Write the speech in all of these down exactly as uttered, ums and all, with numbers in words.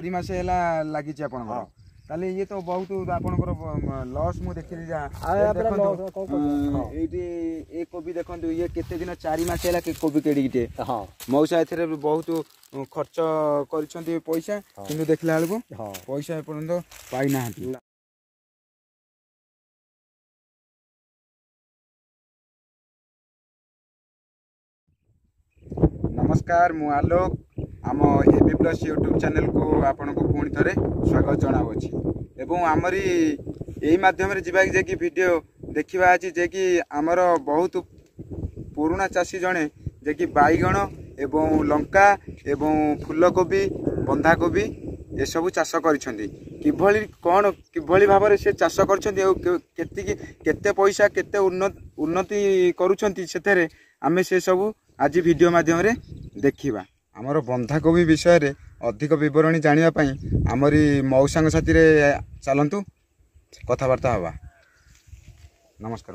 ଚାରି ମାସ ହେଲା ଲାଗିଛି ଆପଣଙ୍କର ତାହେଲେ ଇଏ ତ ବହୁତ ଆପଣଙ୍କର ଲସ୍ ମୁଁ ଦେଖିଲି ଯାହା ଦେଖନ୍ତୁ ଏଇଠି ଏ କୋବି ଦେଖନ୍ତୁ ଇଏ କେତେ ଦିନ ଚାରି ମାସ ହେଲା କୋବି କେଡ଼ିକିଟେ ମଉସା ଏଥିରେ ବହୁତ ଖର୍ଚ୍ଚ କରିଛନ୍ତି ପଇସା କିନ୍ତୁ ଦେଖିଲା ବେଳକୁ ପଇସା ଏପର୍ଯ୍ୟନ୍ତ ପାଇନାହାନ୍ତି ନମସ୍କାର ମୁଁ ଆଲୋକ ଆମ ଏ ବି ପ୍ଲସ୍ ୟୁଟ୍ୟୁବ୍ ଚ୍ୟାନେଲକୁ ଆପଣଙ୍କୁ ପୁଣି ଥରେ ସ୍ୱାଗତ ଜଣାଉଅଛି ଏବଂ ଆମରି ଏଇ ମାଧ୍ୟମରେ ଯିବା ଯେ କି ଭିଡ଼ିଓ ଦେଖିବା ଅଛି ଯେ କି ଆମର ବହୁତ ପୁରୁଣା ଚାଷୀ ଜଣେ ଯେ କି ବାଇଗଣ ଏବଂ ଲଙ୍କା ଏବଂ ଫୁଲକୋବି ବନ୍ଧାକୋବି ଏସବୁ ଚାଷ କରିଛନ୍ତି କିଭଳି କ'ଣ କିଭଳି ଭାବରେ ସେ ଚାଷ କରିଛନ୍ତି ଆଉ କେତିକି କେତେ ପଇସା କେତେ ଉନ୍ନତି କରୁଛନ୍ତି ସେଥିରେ ଆମେ ସେସବୁ ଆଜି ଭିଡ଼ିଓ ମାଧ୍ୟମରେ ଦେଖିବା ଆମର ବନ୍ଧାକୋବି ବିଷୟରେ ଅଧିକ ବିବରଣୀ ଜାଣିବା ପାଇଁ ଆମରି ମଉସାଙ୍କ ସାଥିରେ ଚାଲନ୍ତୁ କଥାବାର୍ତ୍ତା ହେବା ନମସ୍କାର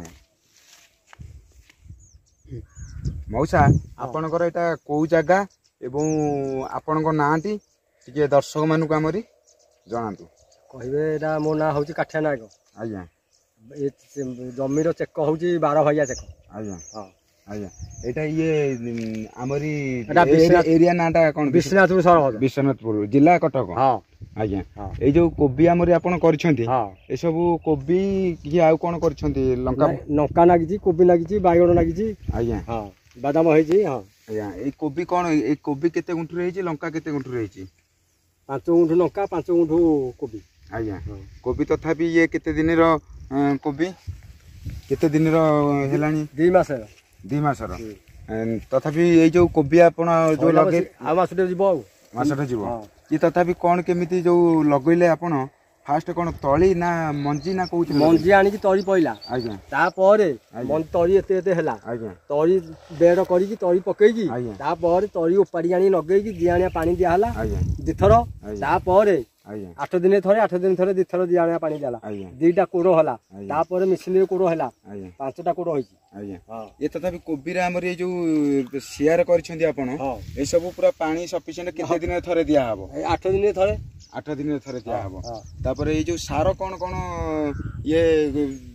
ମଉସା ଆପଣଙ୍କର ଏଇଟା କେଉଁ ଜାଗା ଏବଂ ଆପଣଙ୍କ ନାଁଟି ଟିକେ ଦର୍ଶକମାନଙ୍କୁ ଆମରି ଜଣାନ୍ତୁ କହିବେ ଏଇଟା ମୋ ନାଁ ହେଉଛି କାଠିଆ ନାୟକ ଆଜ୍ଞା ଏ ଜମିର ଚେକ ହେଉଛି ବାର ଭାଇଆ ଚେକ ଆଜ୍ଞା ହଁ ଆଜ୍ଞା ଏଇଟା ଇଏ ଆମରି ଏରିଆ ନାଁଟା କ'ଣ ବିଶ୍ୱନାଥପୁର ସରହଦ ବିଶ୍ୱନାଥପୁର ଜିଲ୍ଲା କଟକ ହଁ ଆଜ୍ଞା ଏଇ ଯୋଉ କୋବି ଆମରି ଆପଣ କରିଛନ୍ତି ଏସବୁ କୋବି କି ଆଉ କ'ଣ କରିଛନ୍ତି ଲଙ୍କା ଲଙ୍କା ଲାଗିଛି କୋବି ଲାଗିଛି ବାଇଗଣ ଲାଗିଛି ଆଜ୍ଞା ହଁ ବାଦାମ ହେଇଛି ହଁ ଆଜ୍ଞା ଏଇ କୋବି କ'ଣ ଏଇ କୋବି କେତେ ଗୁଣ୍ଠୁରେ ହେଇଛି ଲଙ୍କା କେତେ ଗୁଣ୍ଠୁରେ ହେଇଛି ପାଞ୍ଚ ଗୁଣ୍ଠୁ ଲଙ୍କା ପାଞ୍ଚ ଗୁଣ୍ଠୁ କୋବି ଆଜ୍ଞା କୋବି ତଥାପି ଇଏ କେତେ ଦିନର କୋବି କେତେ ଦିନର ହେଲାଣି ଦୁଇ ମାସ ଦୁଇ ମାସର ତଥାପି ଏଇ ଯୋଉ କୋବି ଆପଣ ଯୋଉ ଲଗେଇ ଆଉ ମାସଟେ ଯିବ ଆଉ ମାସଟେ ଯିବ ଇଏ ତଥାପି କ'ଣ କେମିତି ଯୋଉ ଲଗେଇଲେ ଆପଣ ଫାଷ୍ଟ କ'ଣ ତଳି ନା ମଞ୍ଜି ନା କୋଉଥିରେ ମଞ୍ଜି ଆଣିକି ତଳି ପଇଲା ଆଜ୍ଞା ତାପରେ ତଳି ଏତେ ଏତେ ହେଲା ଆଜ୍ଞା ତଳି ବେଡ଼ କରିକି ତଳି ପକେଇକି ତାପରେ ତଳି ଉପାଡ଼ି ଆଣିକି ଲଗେଇକି ଦିଆଣିଆ ପାଣି ଦିଆହେଲା ଆଜ୍ଞା ଦିଥର ତାପରେ ଆଜ୍ଞା ଆଠ ଦିନେ ଥରେ ଆଠ ଦିନ ଥରେ ଦିଥର ଦିଆଣିଆ ପାଣି ଦେଲା ଆଜ୍ଞା ଦିଟା କୋଡ଼ ହେଲା ତାପରେ ମେସିନରେ କୋଡ଼ ହେଲା ଆଜ୍ଞା ପାଞ୍ଚଟା କୋଡ଼ ହେଇଛି ଆଜ୍ଞା ଇଏ ତଥାପି କୋବିରେ ଆମର ଏଇ ଯୋଉ ସିଆର କରିଛନ୍ତି ଆପଣ ଏସବୁ ପୁରା ପାଣି ସଫିସିଏଣ୍ଟ କେତେ ଦିନରେ ଥରେ ଦିଆହବ ଆଠ ଦିନରେ ଥରେ ଆଠ ଦିନରେ ଥରେ ଦିଆହବ ତାପରେ ଏଇ ଯୋଉ ସାର କ'ଣ କ'ଣ ଇଏ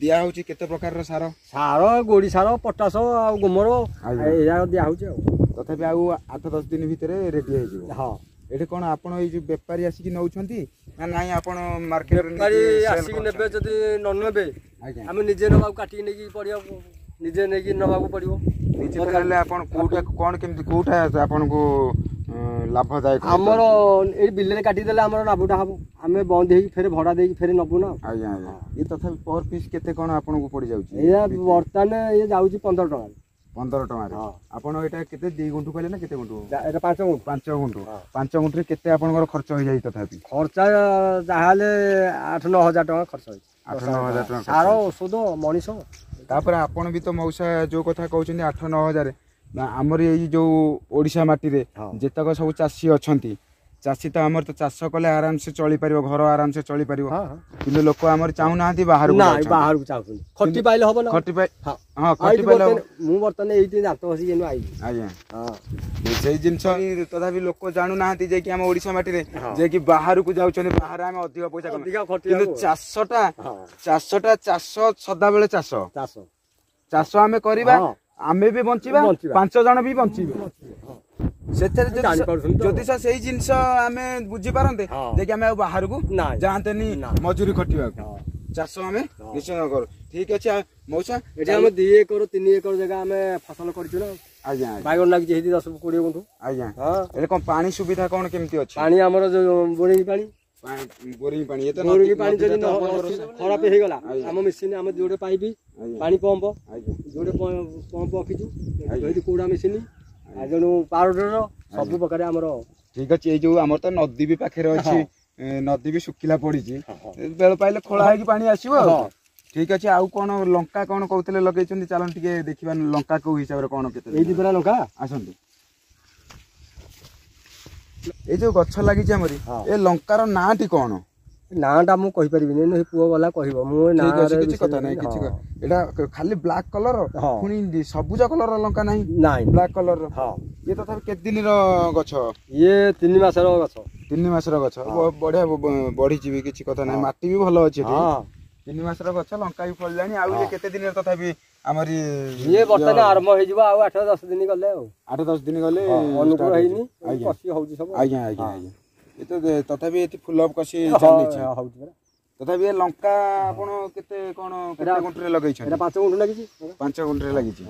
ଦିଆହଉଛି କେତେ ପ୍ରକାରର ସାର ସାର ଗୋଡ଼ି ସାର ପଟାସ ଆଉ ଗୋମର ଏଇଆ ଦିଆହଉଛି ଆଉ ତଥାପି ଆଉ ଆଠ ଦଶ ଦିନ ଭିତରେ ରେଡି ହେଇଯିବ ହଁ ଏଠି କ'ଣ ଆପଣ ଏଇ ଯୋଉ ବେପାରୀ ଆସିକି ନେଉଛନ୍ତି ନା ନାଇଁ ଆପଣ ମାର୍କେଟରେ ବେପାରୀ ଆସିକି ନେବେ ଯଦି ନ ନେବେ ଆଜ୍ଞା ଆମେ ନିଜେ ନେବାକୁ କାଟିକି ନେଇକି ପଡ଼ିବ ନିଜେ ନେଇକି ନେବାକୁ ପଡ଼ିବ ନିଜେ ନେଲେ ଆପଣ କୋଉଟା କ'ଣ କେମିତି କୋଉଟା ଆପଣଙ୍କୁ ଲାଭଦାୟକ ଆମର ଏଇ ବିଲରେ କାଟିଦେଲେ ଆମର ଲାଭଟା ହବ ଆମେ ବନ୍ଦ ହେଇକି ଫେରେ ଭଡ଼ା ଦେଇକି ଫେରେ ନେବୁ ନା ଆଜ୍ଞା ଆଜ୍ଞା ଇଏ ତଥାପି ପର ପିସ୍ କେତେ କ'ଣ ଆପଣଙ୍କୁ ପଡ଼ିଯାଉଛି ଏଇଆ ବର୍ତ୍ତମାନ ଇଏ ଯାଉଛି ପନ୍ଦର ଟଙ୍କାରେ ପନ୍ଦର ଟଙ୍କାରେ ଆପଣ ଏଇଟା କେତେ ଦି ଗୁଣ୍ଠୁ କହିଲେ ନା କେତେ ଗୁଣ୍ଠୁ ଏଇଟା ପାଞ୍ଚ ଗୁଣ୍ଠୁ ପାଞ୍ଚ ଗୁଣ୍ଠୁ ପାଞ୍ଚ ଗୁଣ୍ଠୁରେ କେତେ ଆପଣଙ୍କର ଖର୍ଚ୍ଚ ହେଇଯାଇଛି ତଥାପି ଖର୍ଚ୍ଚ ଯାହାହେଲେ ଆଠ ନଅ ହଜାର ଟଙ୍କା ଖର୍ଚ୍ଚ ହେଇଛି ଆଠ ନଅ ହଜାର ଟଙ୍କା ସାର ଔଷଧ ମଣିଷ ତାପରେ ଆପଣ ବି ତ ମଉସା ଯୋଉ କଥା କହୁଛନ୍ତି ଆଠ ନଅ ହଜାର ଆମର ଏଇ ଯୋଉ ଓଡ଼ିଶା ମାଟିରେ ଯେତକ ସବୁ ଚାଷୀ ଅଛନ୍ତି ଚାଷୀ ତ ଆମର ତ ଚାଷ କଲେ ଆରାମସେ ଚଳିପାରିବ ଘର ଆରାମସେ ଚଳିପାରିବ କିନ୍ତୁ ଲୋକ ଆମର ଚାହୁଁନାହାନ୍ତି ବାହାରକୁ ବାହାରକୁ ଚାହୁଁଛନ୍ତି ଖଟି ପାଇଲେ ହବ ନା ଖଟି ପାଇ ହଁ ଖଟି ପାଇଲେ ମୁଁ ବର୍ତ୍ତମାନ ଏଇଠି ଦାନ୍ତ ଘଷିକି ଏଇନୁ ଆଇଲି ଆଜ୍ଞା ସେଇ ଜିନିଷ ତଥାପି ଲୋକ ଜାଣୁନାହାନ୍ତି ଯେ କି ଆମ ଓଡ଼ିଶା ମାଟିରେ ଯେ କି ବାହାରକୁ ଯାଉଛନ୍ତି ବାହାରେ ଆମେ ଅଧିକ ପଇସା କିନ୍ତୁ ଚାଷଟା ଚାଷଟା ଚାଷ ସଦାବେଳେ ଚାଷ ଚାଷ ଚାଷ ଆମେ କରିବା ଆମେ ବି ବଞ୍ଚିବା ପାଞ୍ଚ ଜଣ ବି ବଞ୍ଚିବେ ସେଥିରେ ଯଦି ସେଇ ଜିନିଷ ଆମେ ବୁଝିପାରନ୍ତେ ଯେ କି ଆମେ ଆଉ ବାହାରକୁ ଯାଆନ୍ତେନି ମଜୁରୀ ଖଟିବାକୁ ଚାଷ ଆମେ ନିଶ୍ଚୟ କରୁ ଠିକ ଅଛି ମଉସା ଏଠି ଆମେ ଦି ଏକର ତିନି ଏକର ଜାଗା ଆମେ ଫସଲ କରିଛୁ ନା ଆଜ୍ଞା ବାଇଗଣ ଲାଗିଛି ହେଇଛି ଦଶ କୋଡ଼ିଏ ଗୁଣ୍ଠୁ ଆଜ୍ଞା ଏଠି କ'ଣ ପାଣି ସୁବିଧା କ'ଣ କେମିତି ଅଛି ପାଣି ଆମର ଯୋଉ ବୋରିଂ ପାଣି ବୋରିଂ ପାଣି ବୋରିଂ ପାଣି ଯଦି ଖରାପ ହେଇଗଲା ଆମ ମେସିନ ଆମ ଯୋଉଟେ ପାଇପ୍ ପାଣି ପମ୍ପ ଯୋଉଟେ ପମ୍ପ ରଖିଛୁ ଏଇଠି କୋଉଡ଼ା ମେସିନ ଆଉ ତେଣୁ ପାଉଡର ସବୁ ପ୍ରକାର ଆମର ଠିକ ଅଛି ଏଇ ଯୋଉ ଆମର ତ ନଦୀ ବି ପାଖରେ ଅଛି ନଦୀ ବି ଶୁଖିଲା ପଡିଛି ବେଳ ପାଇଲେ ଖୋଳା ହେଇକି ପାଣି ଆସିବ ଆଉ ଠିକ ଅଛି ଆଉ କ'ଣ ଲଙ୍କା କ'ଣ କହୁଥିଲେ ଲଗେଇଛନ୍ତି ଚାଲନ୍ତୁ ଟିକେ ଦେଖିବା ଲଙ୍କା କୋଉ ହିସାବରେ କ'ଣ କେତେ ଏଇଠି ପରା ଲଙ୍କା ଆସନ୍ତୁ ଏଇ ଯୋଉ ଗଛ ଲାଗିଛି ଆମରି ଏ ଲଙ୍କାର ନାଁଟି କ'ଣ ନାଁଟା ମୁଁ କହିପାରିବିନି, ସେ ପୁଅ ଗଲା କହିବ। ମୁଁ ଠିକ ଅଛି, କିଛି କଥା ନାହିଁ, କିଛି। ଏଇଟା ଖାଲି ବ୍ଲାକ୍ କଲର, ପୁଣି ସବୁଜ କଲର ଲଙ୍କା ନାହିଁ? ନାଇଁ, ବ୍ଲାକ୍ କଲର। ହଁ। ଇଏ ତଥାପି କେତେ ଦିନର ଗଛ? ଇଏ ତିନି ମାସର ଗଛ। ତିନି ମାସର ଗଛ, ବଢିଆ ବଢିଛି ବି, କିଛି କଥା ନାହିଁ। ମାଟି ବି ଭଲ ଅଛି ଏଠି। ତିନି ମାସର ଗଛ, ଲଙ୍କା ବି ଫଳିଲାଣି। ଆଉ ଇଏ କେତେ ଦିନରେ ତଥାପି ଆମରି? ଇଏ ବର୍ତ୍ତମାନ ଆରମ୍ଭ ହେଇଯିବ ଆଉ ଆଠ ଦଶ ଦିନ ଗଲେ। ଆଉ ଆଠ ଦଶ ଦିନ ଗଲେ। ଅନୁକୂଳ ହେଇନି, କଷି ହଉଛି ସବୁ। ଆଜ୍ଞା ଆଜ୍ଞା ଆଜ୍ଞା। ଏ ତ ତଥାପି ଏଠି ଫୁଲ କଷି ଚାଲିଛି। ତଥାପି ଏ ଲଙ୍କା ଆପଣ କେତେ କଣ, କେତେ ଗୁଣ୍ଠରେ ଲଗେଇଛନ୍ତି? ପାଞ୍ଚ ଗୁଣ୍ଠ ଲାଗିଛି। ପାଞ୍ଚ ଗୁଣ୍ଠରେ ଲାଗିଛି।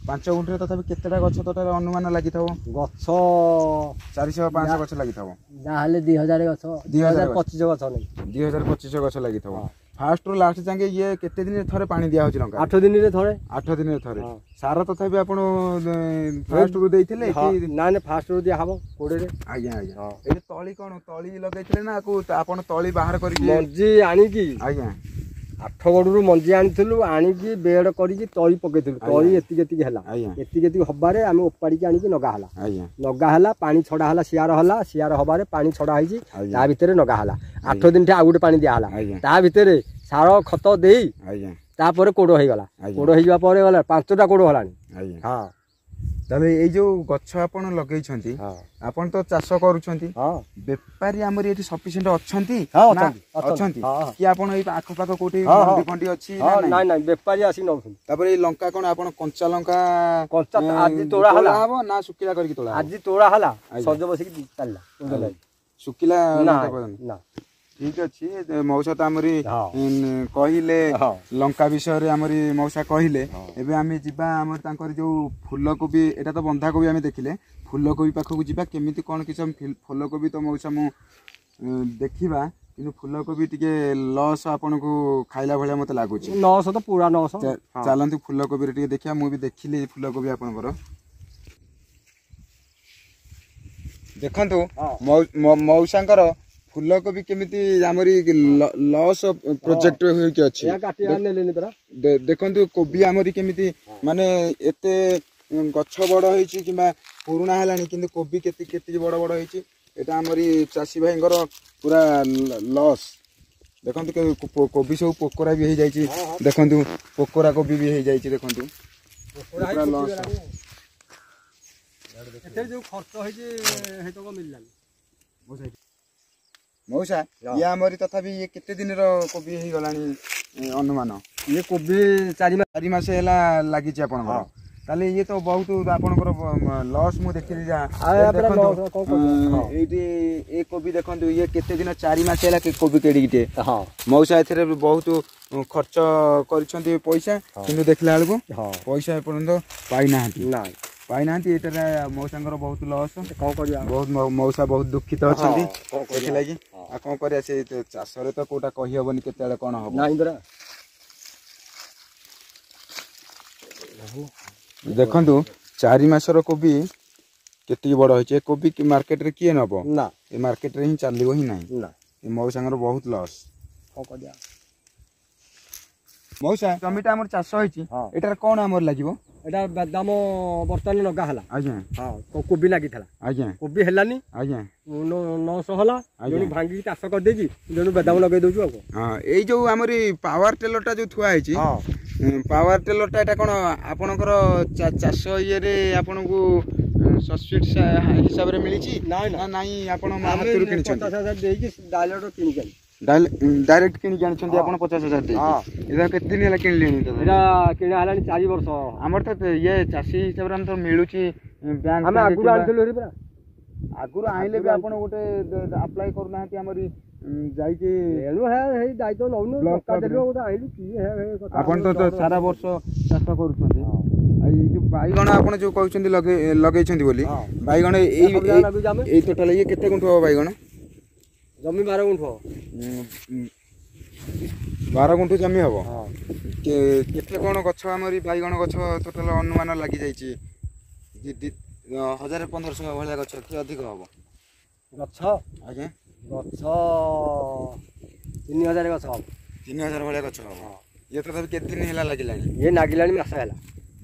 ପାଞ୍ଚ ଗୁଣ୍ଠରେ ତଥାପି କେତେଟା ଗଛ ତଥାପି ଅନୁମାନ ଲାଗିଥିବ? ଗଛ ଚାରିଶହ ପାଞ୍ଚଶହ ଗଛ ଲାଗିଥିବ। ଯାହାହେଲେ ଦି ହଜାର ଗଛ, ଦି ହଜାର ପଚିଶ ଗଛ। ଦି ହଜାର ପଚିଶ ଗଛ ଲାଗିଥିବ। ଫାଷ୍ଟ ରୁ ଲାଷ୍ଟ ଯାକେ ଇଏ କେତେ ଦିନରେ ଥରେ ପାଣି ଦିଆ ହଉଛି ଲଙ୍କା? ଆଠ ଦିନରେ ଥରେ। ଆଠ ଦିନରେ ଥରେ। ସାର ତଥାପି ଆପଣ ଫାଷ୍ଟ ରୁ ଦେଇଥିଲେ କି? ନା ନା, ଫାଷ୍ଟ ରୁ ଦିଆ ହବ କୋଡିଏରେ। ଆଜ୍ଞା ଆଜ୍ଞା। ଏଠି ତଳି କଣ ତଳି ଲଗେଇଥିଲେ ନା ଆକୁ ଆପଣ ତଳି ବାହାର କରିକି? ମଞ୍ଜି ଆଣିକି। ଆଜ୍ଞା। ଆଠଗଡ଼ରୁ ମଞ୍ଜି ଆଣିଥିଲୁ, ଆଣିକି ବେଡ କରିକି ତଳି ପକେଇଥିଲୁ। ତଳି ଏତିକି ଏତିକି ହେଲା। ଏତିକି ଏତିକି ହବାରେ ଆମେ ଓପାଡ଼ିକି ଆଣିକି ନଗା ହେଲା। ନଗା ହେଲା, ପାଣି ଛଡା ହେଲା, ସିଆର ହେଲା। ସିଆର ହବାରେ ପାଣି ଛଡା ହେଇଛି, ତା ଭିତରେ ନଗା ହେଲା। ଆଠ ଦିନଠି ଆଉ ଗୋଟେ ପାଣି ଦିଆହେଲା, ତା ଭିତରେ ସାର ଖତ ଦେଇ ତାପରେ କୋଡ଼ ହେଇଗଲା। କୋଡ଼ ହେଇଯିବା ପରେ ଗଲା ପାଞ୍ଚଟା କୋଡ଼ ହେଲାଣି। ହଁ। ତାହେଲେ ଏଇ ଯୋଉ ଗଛ ଆପଣ ଲଗେଇଛନ୍ତି, ଆପଣ ତ ଚାଷ କରୁଛନ୍ତି, ବେପାରୀ ଆମର ଏଠି ସଫିସିଏଣ୍ଟ ଅଛନ୍ତି? ଅଛନ୍ତି କି ଆପଣ ଏଇ ଆଖପାଖ କୋଉଠି ମଣ୍ଡି ଫଣ୍ଡି ଅଛି? ନାଇଁ ନାଇଁ, ବେପାରୀ ଆସିକି ନଉଛନ୍ତି। ତାପରେ ଏଇ ଲଙ୍କା କଣ ଆପଣ କଞ୍ଚା ଲଙ୍କା? କଞ୍ଚା ଆଜି ତୋଳା ହେଲା ହବ ନା ଶୁଖିଲା କରିକି ତୋଳା? ଆଜି ତୋଳା ହେଲା, ସଜ ବସିକି ଚାଲିଲା। ଶୁଖିଲା ନା? ଠିକ ଅଛି। ମଉସା ତ ଆମରି କହିଲେ ଲଙ୍କା ବିଷୟରେ, ଆମରି ମଉସା କହିଲେ। ଏବେ ଆମେ ଯିବା ଆମର ତାଙ୍କର ଯୋଉ ଫୁଲକୋବି, ଏଇଟା ତ ବନ୍ଧାକୋବି ଆମେ ଦେଖିଲେ, ଫୁଲକୋବି ପାଖକୁ ଯିବା। କେମିତି କ'ଣ କିଛି ଫୁଲକୋବି ତ ମଉସା ମୁଁ ଦେଖିବା, କିନ୍ତୁ ଫୁଲକୋବି ଟିକେ ଲସ୍ ଆପଣଙ୍କୁ ଖାଇଲା ଭଳିଆ ମତେ ଲାଗୁଛି। ନଅଶହ ତ ପୁରା ନଅଶହ। ଚାଲନ୍ତୁ ଫୁଲକୋବିରେ ଟିକେ ଦେଖିବା। ମୁଁ ବି ଦେଖିଲି ଫୁଲକୋବି ଆପଣଙ୍କର। ଦେଖନ୍ତୁ ମଉସାଙ୍କର ଫୁଲକୋବି କେମିତି ଆମରି ଲସ୍ ପ୍ରୋଜେକ୍ଟ ହେଇକି ଅଛି। ଦେଖନ୍ତୁ କୋବି ଆମରି କେମିତି, ମାନେ ଏତେ ଗଛ ବଡ ହେଇଛି କିମ୍ବା ପୁରୁଣା ହେଲାଣି, କିନ୍ତୁ କୋବି କେତେ କେତିକି ବଡ ବଡ ହେଇଛି। ଏଇଟା ଆମରି ଚାଷୀ ଭାଇଙ୍କର ପୁରା ଲସ୍। ଦେଖନ୍ତୁ କୋବି ସବୁ ପୋକରା ବି ହେଇଯାଇଛି। ଦେଖନ୍ତୁ ପୋକରା କୋବି ବି ହେଇଯାଇଛି। ଦେଖନ୍ତୁ ପୁରା ଲସ୍। ଯୋଉ ଖର୍ଚ୍ଚ ହେଇଛି ହେଇତକ ମିଳିଲାନି। ମଉସା, ଇଏ ଆମରି ତଥାପି ଇଏ କେତେ ଦିନର କୋବି ହେଇଗଲାଣି ଅନୁମାନ? ଇଏ କୋବି ଚାରି ଚାରି ମାସ ହେଲା ଲାଗିଛି ଆପଣଙ୍କର। ତାହେଲେ ଇଏ ତ ବହୁତ ଆପଣଙ୍କର ଲସ୍ ମୁଁ ଦେଖିଲି ଯାହା। ଦେଖନ୍ତୁ ଏଇଠି ଏ କୋବି ଦେଖନ୍ତୁ, ଇଏ କେତେ ଦିନ, ଚାରି ମାସ ହେଲା କୋବି କେଡ଼ିକିଟେ। ମଉସା ଏଥିରେ ବହୁତ ଖର୍ଚ୍ଚ କରିଛନ୍ତି ପଇସା, କିନ୍ତୁ ଦେଖିଲା ବେଳକୁ ପଇସା ଏପର୍ଯ୍ୟନ୍ତ ପାଇନାହାନ୍ତି, ପାଇନାହାନ୍ତି। ଏଇଟାରେ ମଉସାଙ୍କର ବହୁତ ଲସ୍। କଣ କରିବା, ବହୁତ ମଉସା ବହୁତ ଦୁଃଖିତ ଅଛନ୍ତି ସେଥିଲାଗି। ଆଉ କଣ କରିବା, ସେ ଚାଷରେ ତ କୋଉଟା କହିହବନି କେତେବେଳେ କଣ ହବ। ଦେଖନ୍ତୁ ଚାରି ମାସର କୋବି କେତିକି ବଡ ହେଇଛି। ଏ କୋବି ମାର୍କେଟରେ କିଏ ନବ? ନା, ଏ ମାର୍କେଟରେ ହିଁ ଚାଲିବ ହିଁ ନାହିଁ। ଏ ମଉସାଙ୍କର ବହୁତ ଲସ୍। କଣ କରିବା ମଉସା, ଜମିଟା ଆମର ଚାଷ ହେଇଛି, ଏଟାରେ କଣ ଆମର ଲାଗିବ? ଏଇଟା ବାଦାମ ବର୍ତ୍ତମାନ ଲଗା ହେଲା। ଆଜ୍ଞା। ହଁ, କୋବି ଲାଗିଥିଲା। ଆଜ୍ଞା। କୋବି ହେଲାନି। ଆଜ୍ଞା। ନଅଶହ ହେଲା, ଜଣେ ଭାଙ୍ଗିକି ଚାଷ କରିଦେଇକି ଜଣେ ବାଦାମ ଲଗେଇ ଦଉଛୁ। ଆଉ ହଁ, ଏଇ ଯୋଉ ଆମରି ପାୱାର ଟେଲରଟା ଯୋଉ ଥୁଆ ହେଇଛି, ପାୱାର ଟେଲରଟା ଏଇଟା କଣ ଆପଣଙ୍କର ଚାଷ ଇଏରେ ଆପଣଙ୍କୁ ସବସିଡି ହିସାବରେ ମିଳିଛି ନା ନାଇଁ ଆପଣ ହାତରୁ କିଣିଛନ୍ତି? ପଚାଶ ହଜାର ଦେଇକି ଡାଇଲର କିଣିକି ଆଣି, ଡାଇରେକ୍ଟ କିଣିକି ଆଣିଛନ୍ତି ଆପଣ ପଚାଶ ହଜାର ଦେଇକି। ଏଇଟା କେତେ ଦିନ ହେଲା କିଣିଲେଣି? ଏଇଟା କିଣା ହେଲାଣି ଚାରି ବର୍ଷ। ଆମର ତ ଇଏ ଚାଷୀ ହିସାବରେ ଆମେ ତ ମିଳୁଛି ବ୍ୟାଙ୍କ। ଆମେ ଆଗରୁ ଆଣିଥିଲୁ ପରା। ଆଗରୁ ଆଣିଲେ ବି ଆପଣ ଗୋଟେ ଆପ୍ଲାଏ କରୁନାହାନ୍ତି ଆମରି ଯାଇକି? ଏଣୁ ହେଇ ଦାୟିତ୍ୱ ନଉନୁ, ଟଙ୍କା ଦେଲୁ ଗୋଟେ ଆଣିଲୁ। କିଏ ଆପଣ ତ ସାରା ବର୍ଷ ଚାଷ କରୁଛନ୍ତି। ଆଉ ଏଇ ଯୋଉ ବାଇଗଣ ଆପଣ ଯୋଉ କହୁଛନ୍ତି ଲଗେଇ ଲଗେଇଛନ୍ତି ବୋଲି ବାଇଗଣ, ଏଇ ଏଇ ଟୋଟାଲ ଇଏ କେତେ ଗୁଣ୍ଠ ହବ ବାଇଗଣ? ଜମି ବାର ଗୁଣ୍ଠ। ବାର ଗୁଣ୍ଠ ଜମି ହବ। କେତେ କଣ ଗଛ ଆମରି ବାଇଗଣ ଗଛ ଟୋଟାଲ ଅନୁମାନ ଲାଗିଯାଇଛି? ହଜାରେ ପନ୍ଦରଶହ ଭଳିଆ ଗଛ କି ଅଧିକ ହବ ଗଛ? ଆଜ୍ଞା। ଗଛ ତିନି ହଜାର ଗଛ ହବ। ତିନି ହଜାର ଭଳିଆ ଗଛ ହବ। ଇଏ ତଥାପି କେତେ ଦିନ ହେଲା ଲାଗିଲାଣି? ଇଏ ଲାଗିଲାଣି ମାସେ ହେଲା।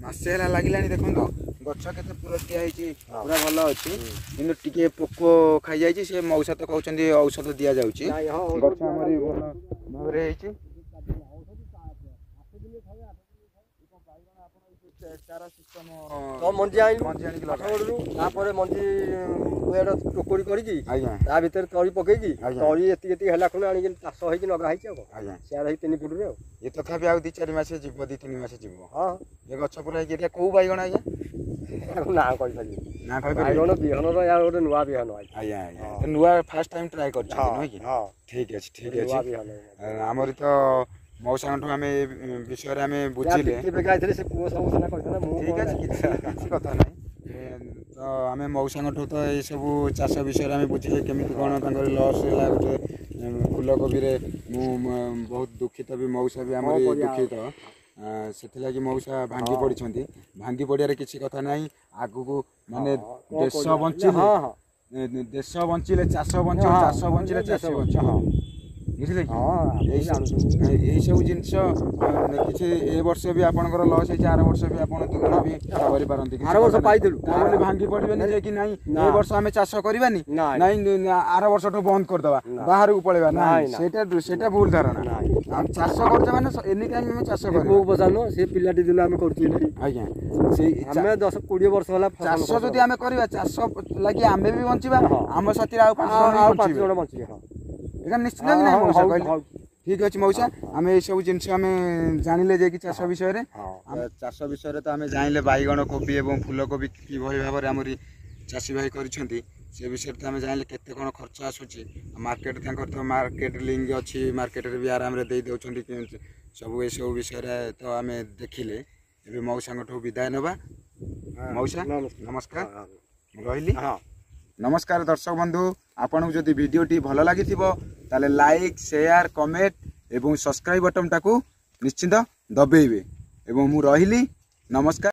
ମାସେ ହେଲା ଲାଗିଲାଣି। ଦେଖନ୍ତୁ ଗଛ କେତେ ପୁରଟିଆ ହେଇଛି, ପୁରା ଭଲ ଅଛି, କିନ୍ତୁ ଟିକେ ପୋକ ଖାଇଯାଇଛି। ସେ ମଉସା ତ କହୁଛନ୍ତି ଔଷଧ ଦିଆଯାଉଛି। ଗଛ ଆମର ଭଲ ଭାବରେ ହେଇଛି। ମଞ୍ଜି ଆଣିଲୁ ଆଠଗଡ଼ରୁ, ତାପରେ ମଞ୍ଜି ଟୋକରି କରିକି ତା ଭିତରେ ତଳି ପକେଇକି ତଳି ଏତିକି ଏତିକି ହେଲା ଖୁଣି ଆଣିକି ଚାଷ ହେଇକି ଲଗା ହେଇଛି। ଆଉ ଆଜ୍ଞା ସେୟାର ହେଇ ତିନି ଫୁଟରେ। ଆଉ ଏ ତଥାପି ଆଉ ଦି ଚାରି ମାସ ଯିବ, ଦି ତିନି ମାସ ଯିବ। ହଁ, ଏ ଗଛ ପୁରା ହେଇକି। ଏଇଟା କୋଉ ବାଇଗଣ ଆଜ୍ଞା? ନା କହିପାରିବି ନା, ବାଇଗଣ ବିହନର ୟାର ଗୋଟେ ନୂଆ ବିହନ। ଆଜ୍ଞା ଆଜ୍ଞା, ନୂଆ ଫାର୍ଷ୍ଟ ଟାଇମ୍ ଟ୍ରାଏ କରିଛନ୍ତି ନୁହେଁ କି? ଠିକ୍ ଅଛି, ଠିକ୍ ଅଛି। ଆମର ତ ମଉସାଙ୍କଠୁ ଆମେ ବିଷୟରେ ଆମେ ବୁଝିଲେ। ଠିକ୍ ଅଛି, କିଛି କିଛି କଥା ନାହିଁ। ତ ଆମେ ମଉସାଙ୍କଠୁ ତ ଏଇସବୁ ଚାଷ ବିଷୟରେ ଆମେ ବୁଝିଲେ କେମିତି କ'ଣ ତାଙ୍କର ଲସ୍ ହେଲା ଗୋଟେ ଫୁଲକୋବିରେ। ମୁଁ ବହୁତ ଦୁଃଖିତ ବି, ମଉସା ବି ଆମର ଦୁଃଖିତ। ସେଥିଲାଗି ମଉସା ଭାଙ୍ଗି ପଡ଼ିଛନ୍ତି। ଭାଙ୍ଗି ପଡ଼ିବାରେ କିଛି କଥା ନାହିଁ। ଆଗକୁ ମାନେ ଦେଶ ବଞ୍ଚିଲେ, ଦେଶ ବଞ୍ଚିଲେ ଚାଷ ବଞ୍ଚିବ, ଚାଷ ବଞ୍ଚିଲେ ଚାଷୀ ବଞ୍ଚିବ, ବୁଝିଲେ କି? ଏଇସବୁ ଜିନିଷ କିଛି ଏ ବର୍ଷ ବି ଆପଣଙ୍କର ଲସ୍ ହେଇଛି, ଆର ବର୍ଷ ବି ଆପଣ ଦୁଃଖ ବି କରିପାରନ୍ତି। ଆର ବର୍ଷ ପାଇଥିଲୁ, ତା ବୋଲି ଭାଙ୍ଗି ପଡ଼ିବେନି ଯେ କି ନାଇଁ ଏ ବର୍ଷ ଆମେ ଚାଷ କରିବାନି, ନାଇଁ ଆର ବର୍ଷଠୁ ବନ୍ଦ କରିଦେବା, ବାହାରକୁ ପଳେଇବା। ନାଇଁ, ସେଇଟା ସେଇଟା ଭୁଲ ଧାରଣା। ଆମେ ଚାଷ କରୁଛେ ମାନେ ଏନି ଟାଇମ୍ ଆମେ ଚାଷ କରିବୁ। ପଚାରୁନ ସେ ପିଲାଟି ଦିନ ଆମେ କରୁଛୁ ଆଜ୍ଞା, ସେଇ ଆମେ ଦଶ କୋଡ଼ିଏ ବର୍ଷ ହେଲା ଚାଷ ଯଦି ଆମେ କରିବା, ଚାଷ ଲାଗି ଆମେ ବି ବଞ୍ଚିବା, ଆମ ସାଥିରେ ଆଉ ପାଞ୍ଚ ଆଉ ପାଞ୍ଚ ଜଣ ବଞ୍ଚିବେ। ଏଇଟା ନିଶ୍ଚିତ କି ନାଇଁ ମଉସା କହିଲେ? ଠିକ୍ ଅଛି ମଉସା, ଆମେ ଏଇସବୁ ଜିନିଷ ଆମେ ଜାଣିଲେ ଯେ କି ଚାଷ ବିଷୟରେ, ଚାଷ ବିଷୟରେ ତ ଆମେ ଜାଣିଲେ ବାଇଗଣ, କୋବି ଏବଂ ଫୁଲକୋବି କିଭଳି ଭାବରେ ଆମରି ଚାଷୀ ଭାଇ କରିଛନ୍ତି ସେ ବିଷୟରେ ତ ଆମେ ଜାଣିଲେ କେତେ କ'ଣ ଖର୍ଚ୍ଚ ଆସୁଛି। ମାର୍କେଟ ତାଙ୍କର ତ ମାର୍କେଟ ଲିଙ୍କ ଅଛି, ମାର୍କେଟରେ ବି ଆରାମରେ ଦେଇ ଦେଉଛନ୍ତି ସବୁ। ଏସବୁ ବିଷୟରେ ତ ଆମେ ଦେଖିଲେ। ଏବେ ମଉସାଙ୍କଠୁ ବିଦାୟ ନେବା। ମଉସା ନମସ୍କାର, ରହିଲି। ନମସ୍କାର ଦର୍ଶକ ବନ୍ଧୁ, ଆପଣଙ୍କୁ ଯଦି ଭିଡ଼ିଓଟି ଭଲ ଲାଗିଥିବ ତାହେଲେ ଲାଇକ୍, ସେୟାର, କମେଣ୍ଟ ଏବଂ ସବସ୍କ୍ରାଇବ୍ ବଟନ୍ଟାକୁ ନିଶ୍ଚିନ୍ତ ଦବେଇବେ। ଏବଂ ମୁଁ ରହିଲି, ନମସ୍କାର।